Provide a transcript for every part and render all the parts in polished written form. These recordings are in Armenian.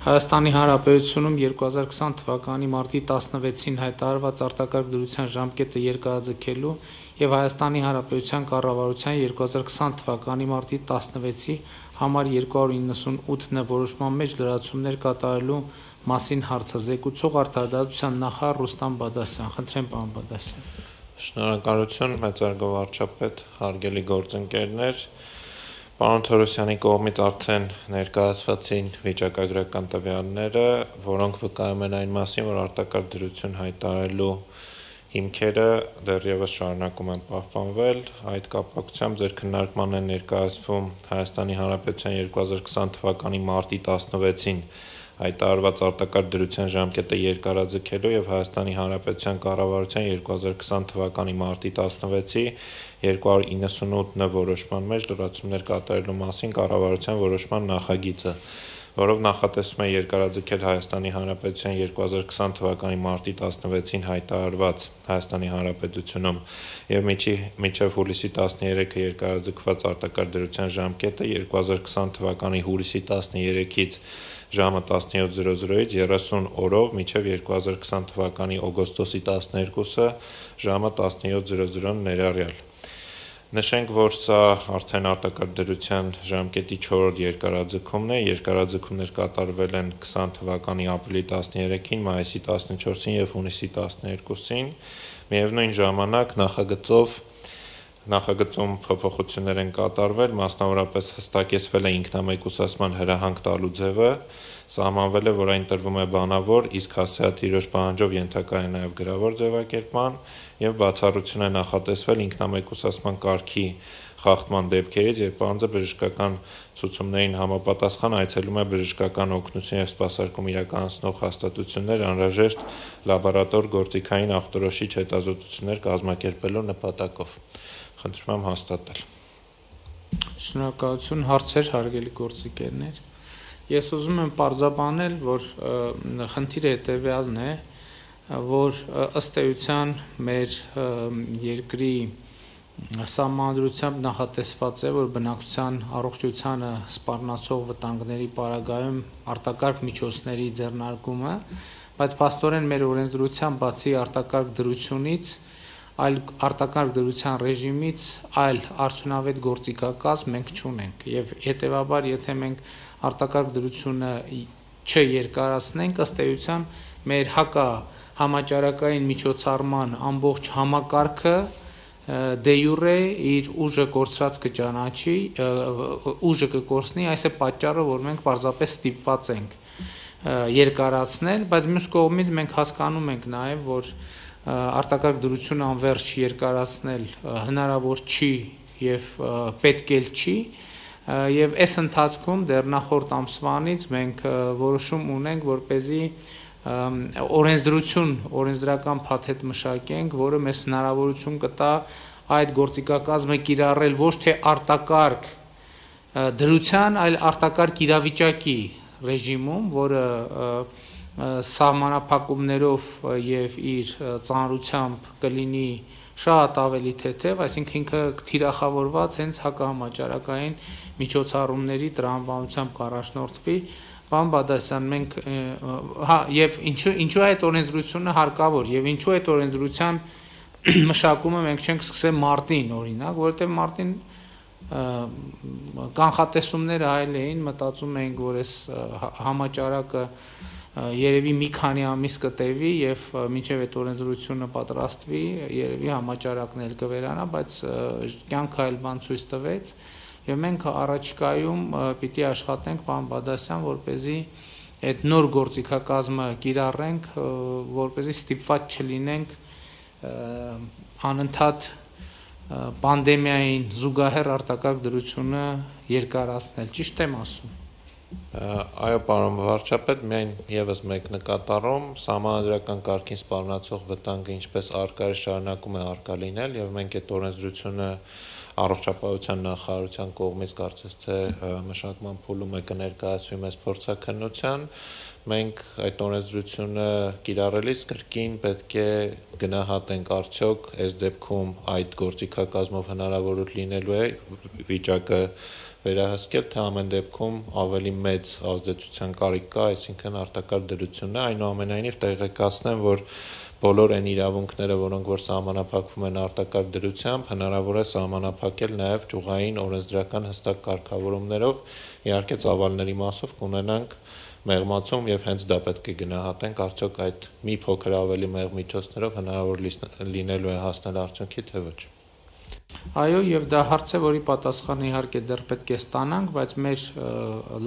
Հայաստանի Հանրապետությունում 2020 թվականի մարտի 16-ին հայտարարված արտակարգ դրության ժամկետը երկարաձգելու և Հայաստանի Հանրապետության կառավարության 2020 թվականի մարտի 16-ի համար 298 որոշման մեջ լրացումներ կատարելու մասին հարցը զեկուցող Արդարադատության նախարար Ռուստամ Բադասյան։ Խնդրեմ, պարոն Բադասյան։ Շնորհակալություն, մեծարգո վարչապետ, հարգելի գործընկերներ։ Պարոն Թորոսյանի կողմից արդեն ներկայացվեցին վիճակագրական տվյալները, որոնք վկայում են այն մասին, որ արտակարգ դրություն հայտարարելու հիմքերը դեռևս շարունակում են պահպանվել։ Այդ կապակցությամբ ձեր քննարկման է ներկայացվում Հայաստանի Հանրապետության 2020 թվականի մարտի 16-ին հայտարարված արտակարգ դրության ժամկետը երկարաձգելու և Հայաստանի Հանրապետության կառավարության 2020 թվականի մարտի 16-ի 298 որոշման մեջ լրացումներ կատարելու մասին կառավարության որոշման նախագիծը, որով նախատեսվում է երկարաձգել Հայաստանի Հանրապետության 2020 թվականի մարտի 16-ին հայտարարված Հայաստանի Հանրապետությունում և մինչև հուլիսի 13-ը երկարաձգված արտակարգ դրության ժամկետը 2020 թվականի հուլիսի 13-ից ժամը 17:00-ից 30 օրով մինչև 2020 թվականի օգոստոսի 12-ը ժամը 17:00 ներառյալ։ Նշենք, որ սա արդեն արտակարգ դրության ժամկետի 4-րդ երկարաձգումն է։ Երկարաձգումներ կատարվել են 20 թվականի ապրիլի 13-ին, մայիսի 14-ին և հունիսի 12-ին։ Միևնույն ժամանակ նախագծում փոփոխություններ են կատարվել, մասնավորապես հստակեցվել է ինքնամեկուսացման հրահանգ տալու ձևը, սահմանվել է, որ այն տրվում է բանավոր, իսկ հասցեատիրոջ պահանջով ենթակա է նաև գրավոր ձևակերպման և բացառություն է նախատեսվել ինքնամեկուսացման կարգի խախտման դեպքերից, երբ անձը բժշկական ցուցումներին համապատասխան այցելում է բժշկական օգնություն և սպասարկում իրականացնող հաստատություններ անհրաժեշտ լաբորատոր գործիքային ախտորոշիչ հետազոտություններ կազմակերպելու նպատակով։ Խնդրում եմ հաստատել։ Շնորհակալություն, հարցեր, հարգելի գործընկերներ։ Ես ուզում եմ պարզաբանել, որ խնդիրը հետևյալն է, որ ըստ էության մեր երկրի սահմանադրությամբ նախատեսված է, որ բնակչության առողջությանը սպառնացող վտանգների պարագայում արտակարգ միջոցների ձեռնարկումը, բայց փաստորեն մեր օրենսդրությամբ բացի արտակարգ դրությունից, այլ արտակարգ դրության ռեժիմից այլ արդյունավետ գործիքակազմ մենք չունենք եւ հետեւաբար եթե մենք արտակարգ դրությունը չերկարացնենք, ըստ էության մեր համաճարակային միջոցառման ամբողջ համակարգը դե յուրե իր ուժը կորցրած կճանաչի, ուժը կկորցնի, այս է պատճառը, որ մենք պարզապես ստիպված ենք երկարացնել, բայց մյուս կողմից մենք հասկանում ենք նաեւ, որ արտակարգ դրությունը անվերջ երկարացնել հնարավոր չի եւ պետք էլ չի եւ այս ընթացքում դեռ նախորդ ամսվանից մենք որոշում ունենք, որպեսզի օրենսդրական փաթեթ մշակենք, որը մեզ հնարավորություն կտա այդ գործիքակազմը կիրառել ոչ թե արտակարգ դրության, այլ արտակարգ իրավիճակի ռեժիմում, որը սահմանափակումներով եւ իր ծանրությամբ կլինի շատ ավելի թեթև, այսինքն ինքը թիրախավորված հենց հակահամաճարակային միջոցառումների տրամաբանությամբ կառաջնորդվի։ Պարոն Բադասյան, մենք եւ ինչու այդ օրենսդրությունը հարկավոր եւ ինչու այդ օրենսդրության մշակումը մենք չենք սկսել մարտին, օրինակ, որովհետեւ մարտին կանխատեսումները այլ էին, մտածում էինք, որ այս համաճարակը երևի մի քանի ամիս կտևի եւ մինչեւ այդ օրենսդրությունը պատրաստվի, երևի համաճարակն էլ կվերանա, բայց կյանքը այլ բան ցույց տվեց եւ մենք առաջիկայում պիտի աշխատենք, պարոն Բադասյան, որպեսզի այդ նոր գործիքակազմը կիրառենք, որպեսզի ստիպված չլինենք անընդհատ պանդեմիային զուգահեռ արտակարգ դրությունը երկարացնել, ճիշտ եմ ասում։ Այո, պարոն վարչապետ, միայն եւս մեկ նկատառում, սահմանադրական կարգին սպառնացող վտանգը ինչպես արկա է շարունակում է արկա լինել եւ մենք այդ օրենսդրությունը առողջապահության նախարարության կողմից կարծես թե մշակման փուլում է կներկայացվի մեծ փորձաքննության, մենք այդ օրենսդրությունը կիրառելիս կրկին պետք է գնահատենք արդյոք այս դեպքում այդ գործիքակազմով հնարավոր լինելու է վիճակը վերահսկել, թե ամեն դեպքում ավելի մեծ ազդեցության կարիք կա, այսինքն արտակարգ դրությունն է, այնուամենայնիվ տեղեկացնեմ, որ բոլոր այն իրավունքները, որոնք որ սահմանափակվում են արտակարգ դրությամբ, հնարավոր է սահմանափակել նաև ճյուղային օրենսդրական հստակ կարգավորումներով, իհարկե ծավալների մասով կունենանք մեղմացում եւ հենց դա պետք է գնահատենք, արդյոք այդ մի փոքր ավելի մեղ միջոցներով հնարավոր լինելու է հասնել արդյունքի, թե ոչ։ Այո, եւ դա հարց է, որի պատասխանը իհարկե դեռ պետք է ստանանք, բայց մեր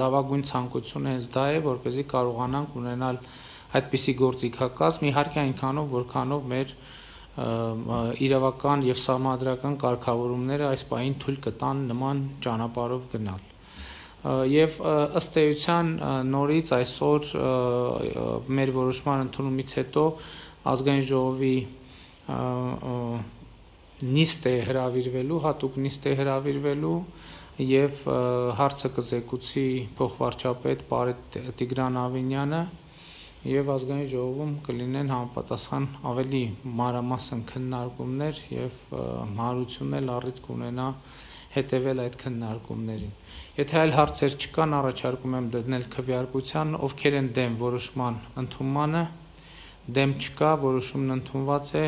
լավագույն ցանկությունը հենց դա է, որպեսզի կարողանանք ունենալ այդպիսի գործիքակազմ, իհարկե այնքանով, որքանով մեր իրավական եւ սահմանադրական կարգավորումները այս պահին թույլ կտան նման ճանապարհով գնալ։ Եվ ըստ էության նորից այսօր մեր որոշման ընդունումից հետո ազգային ժողովի նիստ է հրավիրվելու, հատուկ նիստ է հրավիրվելու եւ հարցը կզեկուցի փոխվարչապետ Պարետ Տիգրան Ավինյանը եւ ազգային ժողովում կլինեն համապատասխան ավելի մանրամասն քննարկումներ եւ հանրությունն առիթ կունենա հետևել այդ քննարկումներին։ Եթե այլ հարցեր չկան, առաջարկում եմ դնել քվեարկության, ովքեր են դեմ որոշման ընդունմանը, դեմ չկա, որոշումն ընդունված է։